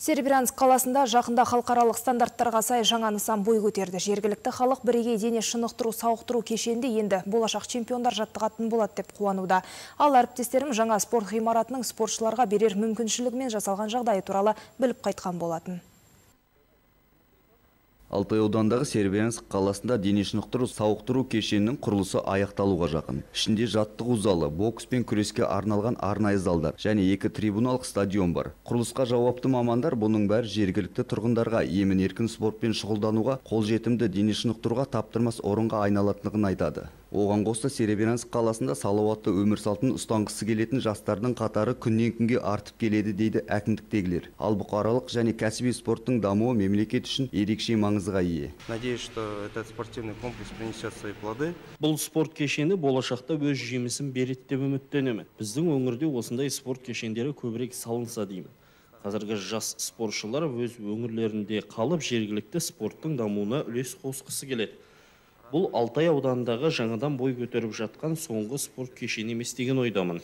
Серебрянск қаласында жақында халықаралық стандарттарға сай жаңа нысан бой көтерді. Жергілікті халық бірегей дене шынықтыру сауықтыру кешенде енді болашақ чемпиондар жаттығатын болады деп қуануда. Ал әріптестерім жаңа спорт ғимаратының спортшыларға берер мүмкіншілігімен жасалған жағдайы туралы біліп қайтқан болатын. Алтай аудандағы Серебрянск қаласында дене шынықтыру сауықтыру кешенінің құрылысы аяқталуға жақын. Ішінде жаттығу залы, бокс пен күреске арналған арнайы залдар және 2 трибуналық стадион бар. Құрылысқа жауапты мамандар бұның бәрі жергілікті тұрғындарға емін-еркін спортпен шұғылдануға, қолжетімді дене шынықтыруға таптырмас орынға айналатындығын айтады. Оған қоса Серебрянск қаласында салауатты өмір салтын ұстанғысы келетін жастардың қатары күннен күнге артып келеді дейді әкімдіктегілер. Ал бұқаралық және кәсіби спорттың дамуы мемлекет үшін ерекше маңызға ие. Надеюсь, что этот спортивный комплекс принесет свои плоды. Бұл спорт кешені болашақта өз жемісін береді деп үміттенемін. Біздің өңірде осындай спорт кешендері көбірек салынса деймін. Қазіргі жас спортшылар өз өңірлерінде қалып жергілікті спорттың дамуына үлес қосқысы келеді. Бұл Алтай ауданындағы жаңадан бой көтеріп жатқан соңғы спорт кешені емес деген ойдамын.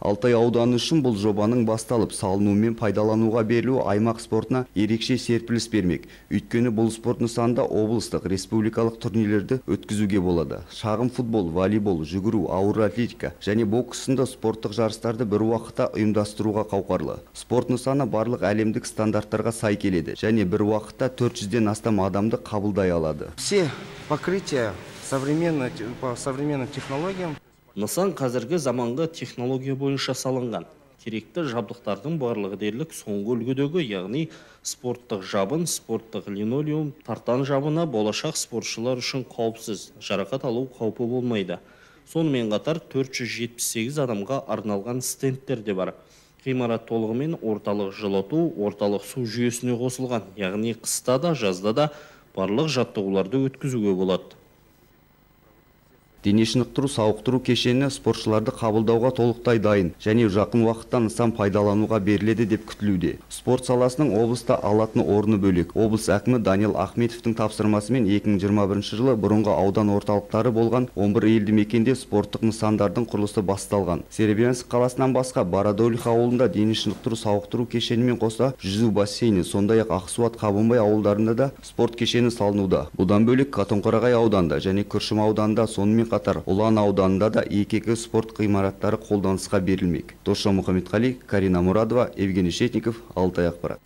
Алтай ауданы үшін бұл жобаның басталып, салыну мен пайдалануға берілуі аймақ спортына ерекше серпіліс бермек. Өйткені бұл спорт нысанында облыстық, республикалық турнирлерді өткізуге болады. Шағын футбол, волейбол, жүгіру, ауыр атлетика және бокс сынды спорттық жарыстарды бір уақытта ұйымдастыруға қауқарлы. Спорт нысаны барлық әлемдік стандарттарға сай келеді және бір уақытта 400-ден астам адамды қабылдай алады. Все покрытия по современным технологиям. Нысан қазіргі заманғы технология бойынша салынған. Керекті жабдықтардың барлығы дерлік соңғы үлгідегі, яғни спорттық жабын, спорттық линолеум, тартан жабына болашақ спортшылар үшін қауіпсіз, жарақат алу қаупі болмайды. Сонымен қатар 478 адамға арналған стендтер де бар. Ғимарат толығымен орталық жылыту, орталық су жүйесіне қосылған, яғни қыста да, жазда да барлық жаттығуларды өткізуге болады. Дене шынықтыру сауықтыру кешені спортшыларды қабылдауға толықтай дайын және жақын уақытта нысан пайдалануға беріледі деп күтілуде. Спорт саласының облыста алатын орны бөлек. Облыс әкімі Даниил Ахметовтың тапсырмасымен 2021 жылы бұрынғы аудан орталықтары болған 11 елді мекенде спорттық нысандардың құрылысы басталған. Серебрянск қаласынан басқа Бородулиха ауылында дене шынықтыру сауықтыру кешенімен қоса жүзу бассейні, сондай-ақ Ақсуат, Қабанбай ауылдарында да спорт кешені салынуда. Бұдан бөлек Қатонқарағай ауданында және Күршім ауданында, сонымен қатар Ұлан ауданында да екі спорт ғимараттары қолданысқа берілмек. Досжан Мұхамедқали, Карина Мурадова, Евгений Шетников, Алтай ақпарат.